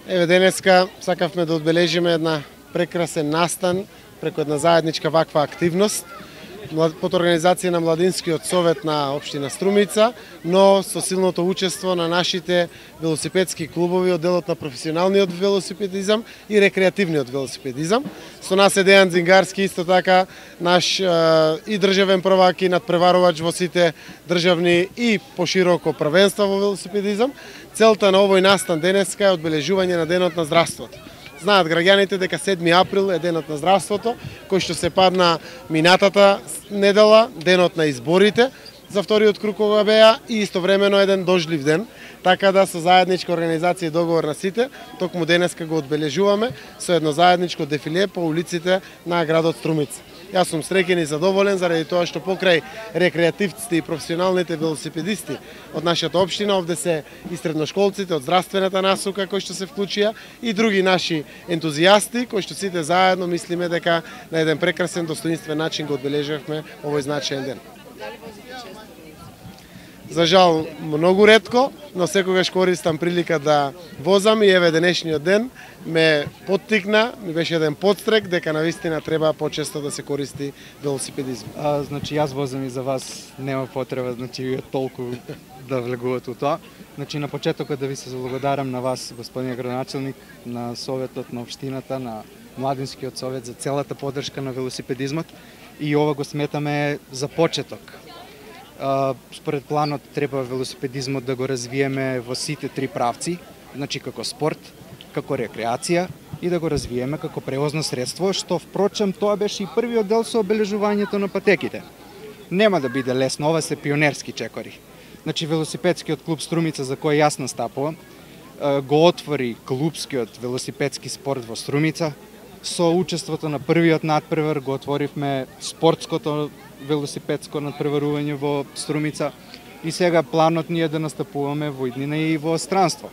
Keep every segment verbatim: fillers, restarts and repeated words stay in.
Еве денеска сакавме да одбележиме една прекрасен настан преку една заедничка ваква активност под организација на Младинскиот совет на општина Струмица, но со силното учество на нашите велосипедски клубови од делот на професионалниот велосипедизам и рекреативниот велосипедизам. Со нас е Дејан Дзингарски, исто така наш и државен првак и надпреварувач во сите државни и пошироко првенства во велосипедизам. Целта на овој настан денеска е одбележување на денот на здравството. Знаат граѓаните дека седми април е денот на здравството, кој што се падна минатата недела, денот на изборите за вториот круг кога беа и истовремено еден дождлив ден, така да со заедничка организација и договор на сите, токму денеска го одбележуваме со едно заедничко дефиле по улиците на градот Струмица. Јас сум среќен и задоволен заради тоа што покрај рекреативците и професионалните велосипедисти од нашата општина, овде се и средношколците од здравствената насока кои што се вклучија и други наши ентузијасти кои што сите заедно мислиме дека на еден прекрасен достоинствен начин го одбележавме овој значаен ден. За жал, многу ретко, но секогаш користам прилика да возам и еве денешниот ден ме поттикна, ми беше еден подстрек дека навистина треба почесто да се користи велосипедизм. А, значи јас возам и за вас нема потреба, значи толку да влегувате у тоа. Значи на почетокот да ви се заблагодарам на вас, господин градоначелник, на советот на општината, на Младинскиот совет за целата поддршка на велосипедизмот и ова го сметаме за почеток. Според планот треба велосипедизмот да го развиеме во сите три правци, значи како спорт, како рекреација и да го развиеме како превозно средство, што впрочем тоа беше и првиот дел со обележувањето на патеките. Нема да биде лесно, ова се пионерски чекори. Значи велосипедскиот клуб Струмица, за кој јас настапувам, го отвори клубскиот велосипедски спорт во Струмица. Со учеството на првиот надпревар го отворивме спортското велосипедско надпреварување во Струмица и сега планот ни е да настапуваме во иднина и во странство.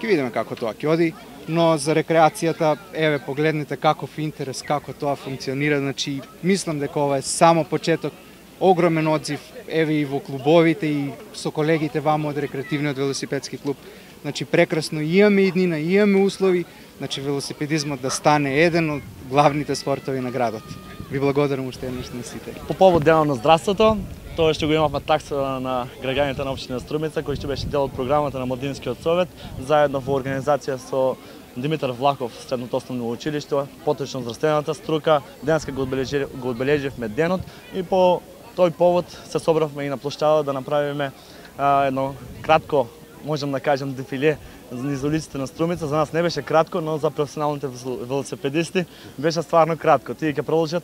Ќе видиме како тоа ќе оди, но за рекреацијата, еве погледнете каков интерес, како тоа функционира, значи мислам дека ова е само почеток, огромен одзив, еве и во клубовите и со колегите вамо од рекреативниот велосипедски клуб. Значи прекрасно, имаме иднина, имаме услови, значи велосипедизмот да стане еден од главните спортови на градот. Ви благодарам уште еднаш на сите. По повод денот на здравството, тоа што го имавме такса на граѓаните на општина Струмица, кој што беше дел од програмата на Младинскиот совет, заедно во организација со Димитар Влахов, средното основно училиште, поточно здравствената струка, денеска го одбележи, го одбележивме денот и по тој повод се собравме и на площада да направиме а, едно кратко, можам да кажам, дефиле низ улиците на Струмица. За нас не беше кратко, но за професионалните велосипедисти беше стварно кратко. Тие ќе продолжат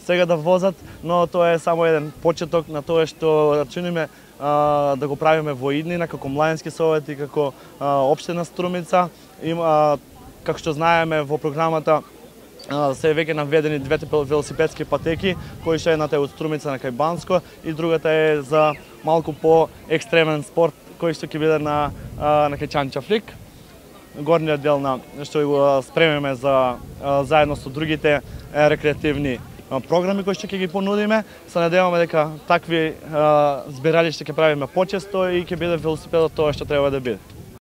сега да возат, но тоа е само еден почеток на тоа што рачуниме а, да го правиме во иднина како Младински совет и како а, општина Струмица. Има, како што знаеме во програмата се веќе наведени двете велосипедски патеки, кои што едната е од Струмица на Кајбанско и другата е за малку по екстремен спорт кој што ќе биде на на Кечанчафлик. Горниот дел на што го спремиме за заедно со другите рекреативни програми кои што ќе ги понудиме. Се надеваме дека такви збиралишта ќе правиме почесто и ќе биде велосипедот тоа што треба да биде.